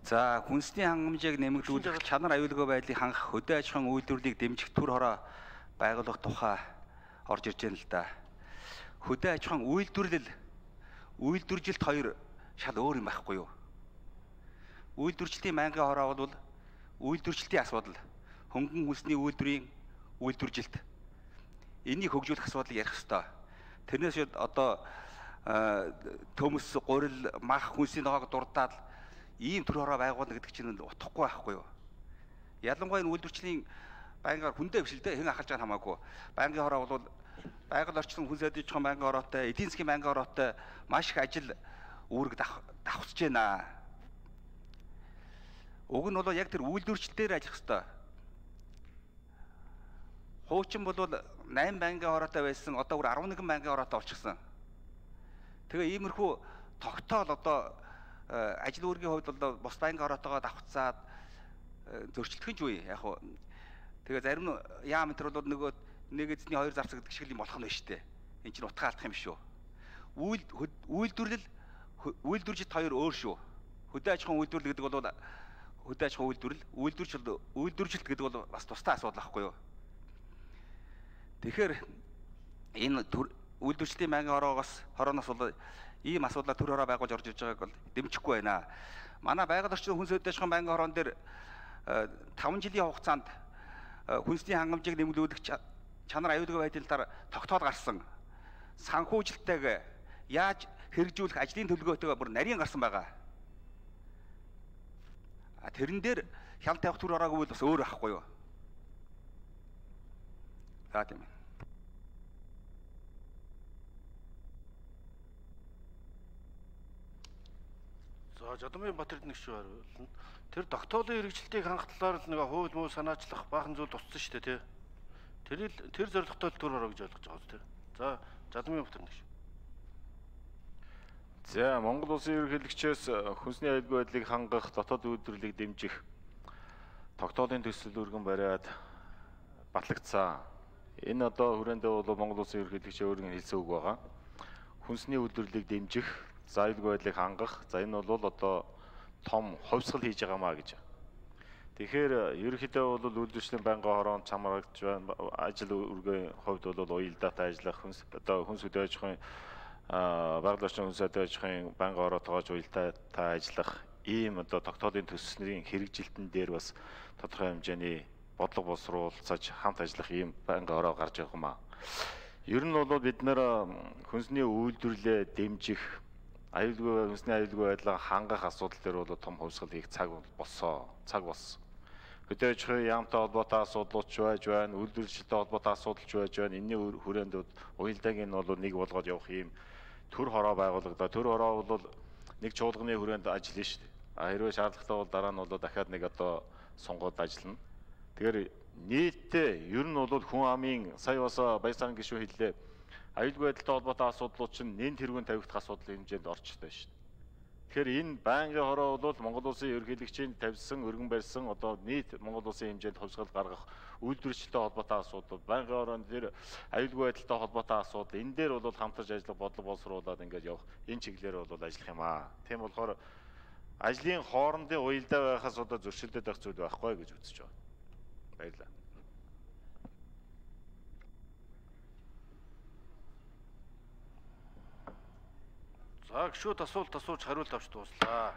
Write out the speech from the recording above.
За хүнсний хангамжийг нэмэгдүүлэх, чанар аюулгүй байдлыг хангах, хөдөө аж ахуйн үйлдвэрлэлийг дэмжих төр хороо байгуулах тухай орж ирж байна л да. Хөдөө аж ахуйн үйлдвэрлэл, үйлдвэржилт хоёр шал өөр юм байхгүй юу? Үйлдвэржилтийн байнгын хороо бол үйлдвэржилтийн асуудал, хөнгөн хүнсний үйлдвэрийн үйлдвэржилт. Энийг хөгжүүлэх асуудлыг ярих ёстой. Тэрнээс одоо төмөс, гурил, мах, хүнсний ногоог дурдаад ийм төр хороо байгуулна гэдэг чинь утгагүй байхгүй юу? Ялангуяа энэ үйлдвэрчлийн байнгын хүндээ биш л дээ, хэн ахалж байгаа хамаагүй. Байнгын хороо бол байгаль орчин хүн сайдын чухал байнгын хороотой, эдийн засгийн байнгын хороотой маш их ажил үүрэг давхцаж байна. Уг нь бол яг тэр үйлдвэрчлэлээр ажиллах ёстой. Хуучин бол 8 байнгын хороотой байсан, одоо бүр 11 байнгын хороотой болчихсон. Тэгээ иймэрхүү тогтоол одоо ажил үүргийн хувьд бол бус байнгын хороотойгоо давхцаад зөрчилдөх нь юу вэ? Яг хуу тэгээ зарим яам энэ төр бол нөгөө нэг эзний хоёр зарцаг гэдэг шиг юм болох нь байна шүү дээ. Энд чинь утга алдах юм шүү. Үйлдвэрлэл, үйлдвэржилт хоёр өөр шүү. Хөдөө аж ахуйн үйлдвэрлэл гэдэг бол хөдөө аж ахуйн үйлдвэрлэл, үйлдвэржилт гэдэг бол бас тустай асуудал байхгүй юу? Тэгэхээр энэ үйлдвэрчлийн байнгын хорооноос бол ийм асуудлаар төр хороо байгуулж орж ирж байгааг бол дэмжихгүй байна. Манай байгаль орчин хүн сайдын аж ахуйн байнгын хороон дээр 5 жилийн хугацаанд хүнсний хангамжийг нэмэгдүүлэх, чанар аюулгүй байдлын талаар тогтоол гарсан. Санхүүжилттэйг яаж хэрэгжүүлэх ажлын төлөвлөгөөтэйгээ бүр нарийн гарсан байгаа. Тэрэн дээр хяналт тавих төр хороогүй бол бас өөр байхгүй юу? За тийм ээ. За Жадамын Батэрд нэг шүү хариулна. Тэр тогтоолын хэрэгжилтийг хангах талаар л нэг хууль муу санаачлах баахан зүйл туссан шүү дээ, тий. Тэр зорилготой төр хороо гэж ойлгож байгаа зү. За Жадамын Батэр нэг шүү. За Монгол улсын ерөнхийлөгчөөс хүнсний аюулгүй байдлыг хангах, дотоод үйлдвэрлэлийг дэмжих тогтоолын төсөл өргөн бариад батлагдсан. Энэ одоо хүрээндээ бол Монгол улсын ерөнхийлөгч өөрийн хэлсэн үг байгаа. Хүнсний үйлдвэрлэлийг дэмжих, за аюулгүй байдлыг хангах. За энэ бол одоо том хувьсгал хийж байгаамаа гэж. Тэгэхээр ерөнхийдөө бол үйлдвэрчлийн байнгын хороонд чамрагдж байна. Ажил үргийн хувьд бол уялдаатай ажиллах, хүнс хөдөө аж ахуйн байгаль орчин хүн сайдын аж ахуйн байнгын хороотойгоо уялдаатай ажиллах ийм одоо тогтоолын төслийн хэрэгжилтэн дээр бас тодорхой хэмжээний бодлого боловсруулж хамт ажиллах ийм байнгын хороо гарч явах юм аа. Ер нь бол бид нэр хүнсний үйлдвэрлэлээ дэмжих, хүнсний аюулгүй байдлаа хангах асуудал дээр бол том хувьсгал хийх цаг болсон. Хөдөө аж ахуйн яамтай холбоотой асуудлууд ч байж байна, үйлдвэрчилтэй холбоотой асуудал ч байж байна. Энэний хүрээнд уялдааг нь бол нэг болгоод явах ийм төр хороо байгуулагдаа. Төр хороо бол нэг чуулганы хүрээнд ажиллана шүү дээ. Хэрвээ шаардлагатай бол дараа нь бол дахиад нэг одоо сонгоод ажиллана. Тэгэхээр нийтдээ ер нь бол хүн амын сая бас Баясаан гишүүн хэллээ. Аюулгүй байдалтай холбоотой асуудлууд чинь нэн тэргүүн тавигдах асуудлын хэмжээнд орчтой шүү дээ. Тэгэхээр энэ байнгын хороо бол Монгол улсын ерөнхийлөгчийн тавьсан, өргөн барьсан одоо нийт Монгол улсын хэмжээнд хувьсгал гаргах үйлдвэрчилтэй холбоотой асуудал, байнгын хорооны дээр аюулгүй байдалтай холбоотой асуудал, энэ дээр бол хамтарч ажиллах бодлого боловсруулаад ингээд явах энэ чиглэлээр бол ажиллах юм аа. Тийм болохоор ажлын хоорондын уялдаа байхаас одоо зөрчилдөд байх зүйл байхгүй гэж үзэж байна. Баярлалаа. За гişүүд асуулт асууж хариулт авч дууслаа.